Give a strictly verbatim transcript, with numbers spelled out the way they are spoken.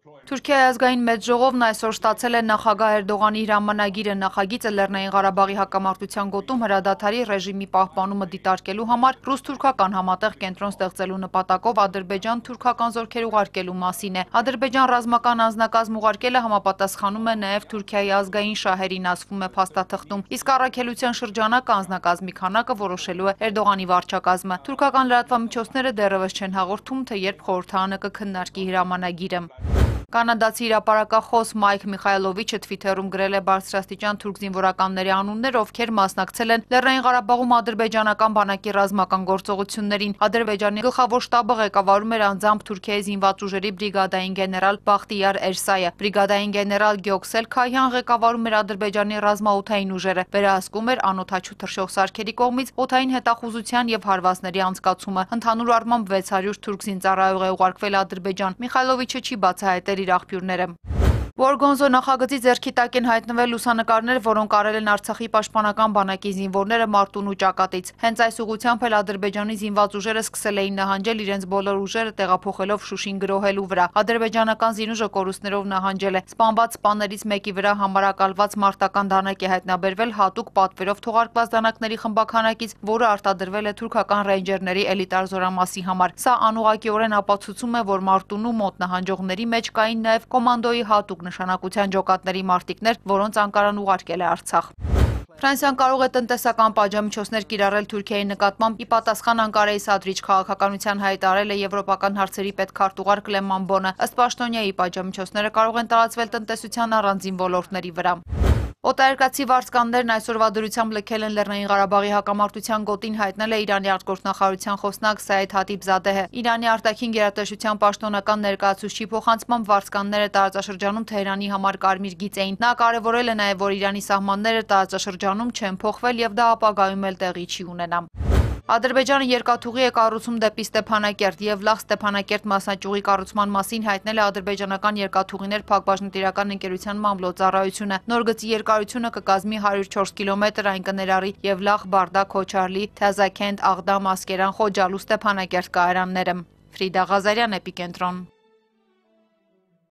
Թուրքիայի ազգային մեծ ժողովն այսօր ստացել է նախագահ Էրդողանի հրամանագիրը։ Նախագիծը Լեռնային Ղարաբաղի հակամարտության գոտում հրադադարի ռեժիմի պահպանումը դիտարկելու համար ռուս-թուրքական համատեղ կենտրոն ստեղծելու նպատակով ադրբեջան-թուրքական զորքեր ուղարկելու մասին է։ Ադրբեջան ռազմական անձնակազմ ուղարկելը համապատասխանում է նաև Թուրքիայի ազգային շահերին, ասվում է փաստաթղթում, իսկ առաքելության շրջանակը անձնակազմի քանակը որոշելու է Էրդողանի վարչակազմը։ Թուրքական լրատվամիջոցները դեռևս չեն հաղորդում, թե երբ խորհրդարանը կքննարկի հրամանագիրը։ Կանադացի հրապարակախոս Մայք Միխայլովիչը Թվիթերում գրել է բարձրաստիճան թուրք զինվորականների անուններ, ովքեր մասնակցել են Լեռնային Ղարաբաղում ադրբեջանական բանակի ռազմական գործողություններին։ Ադրբեջանի գլխավոր շտաբը ղեկավարում էր անձամբ Թուրքիայի զինված ուժերի բրիգադային գեներալ Բախտիար Էրսայը։ Բրիգադային գեներալ Գյոքսել Քայհյան ղեկավարում էր Ադրբեջանի ռազմաօդային ուժերը։ Վերահսկում էր անօդաչու թռչող սարքերի կողմից օդային հետախուզության եւ հարվածների անցկացումը։ Ընդհանուր առմամբ վեց հարյուր թուրք զինծառայող է ուղարկվել Ադրբեջան։ Միխայլովիչը չի բացահայտել իր աղբյուրները։ Որգոնզո նախագծի ձեռքի տակ են հայտնվել լուսանկարներ, որոնք արել են Արցախի պաշտպանական բանակի զինվորները Մարտունու ճակատից։ Հենց այս ուղղությամբ էլ Ադրբեջանի զինված ուժերը սկսել էին նահանջել իրենց բոլոր ուժերը տեղափոխելով Շուշին գրոհելու վրա։ Ադրբեջանական զինուժը կորուստներով նահանջել է։ Սպանված սպաներից մեկի վրա համարակալված մարտական դանակ է հայտնաբերվել հատուկ պատվերով թողարկված դանակների խմբաքանակից, որը արտադրվել է թուրքական ռեյնջերների էլիտար զորամասի համար։ Սա անուղղակիորեն ապացուցում է, որ Մարտունու մոտ նահանջողների մեջ կային նաև կոմանդոյի հատուկ նշանակության ջոկատների մարտիկներ, որոնց Անկարան ուղարկել է Արցախ։ Ֆրանսիան կարող է տնտեսական պատժամիջոցներ կիրառել Թուրքիայի նկատմամբ։ Ի պատասխան Անկարայի սադրիչ քաղաքականության հայտարարել է եվրոպական հարցերի պետքարտուղար Կլեման Բոնը։ Ըստ պաշտոնյայի, պատժամիջոցները կարող են տարածվել տնտեսության առանձին ոլորտների վրա։ Օտարերկրացի վարձկաններն այսօրվա դրությամբ լքել են Լեռնային Ղարաբաղի հակամարտության գոտին, հայտնել է Իրանի արտգործնախարարության խոսնակ Սայեդ Հաթիբզադեհը։ Իրանի արտաքին գերատեսչության պաշտոնական ներկայացուցչի փոխանցմամբ վարձկանները տարածաշրջանում Թեհրանի համար կարմիր գիծ էին։ Նա կարևորել է նաև, որ Իրանի սահմանները տարածաշրջանում չեն փոխվել եւ դա ապագայում էլ տեղի չի ունենա։ Ադրբեջանը երկաթուղի է կառուցում դեպի Ստեփանակերտ եւ լավ Ստեփանակերտ մասնաճյուղի կառուցման մասին հայտնել է ադրբեջանական երկաթուղիներ փակbaşնտիրական ընկերության մամլոյ-ծառայությունը։ Նոր գծի երկարությունը կկազմի հարյուր չորս կիլոմետր, այն կներառի եւ լավ Բարդա, Քոչարլի, Թազաքենտ, Աղդամ, Ասկերան, Խոջալու, Ստեփանակերտ կայարանները։ Ֆրիդա Ղազարյան, Էպիկենտրոն։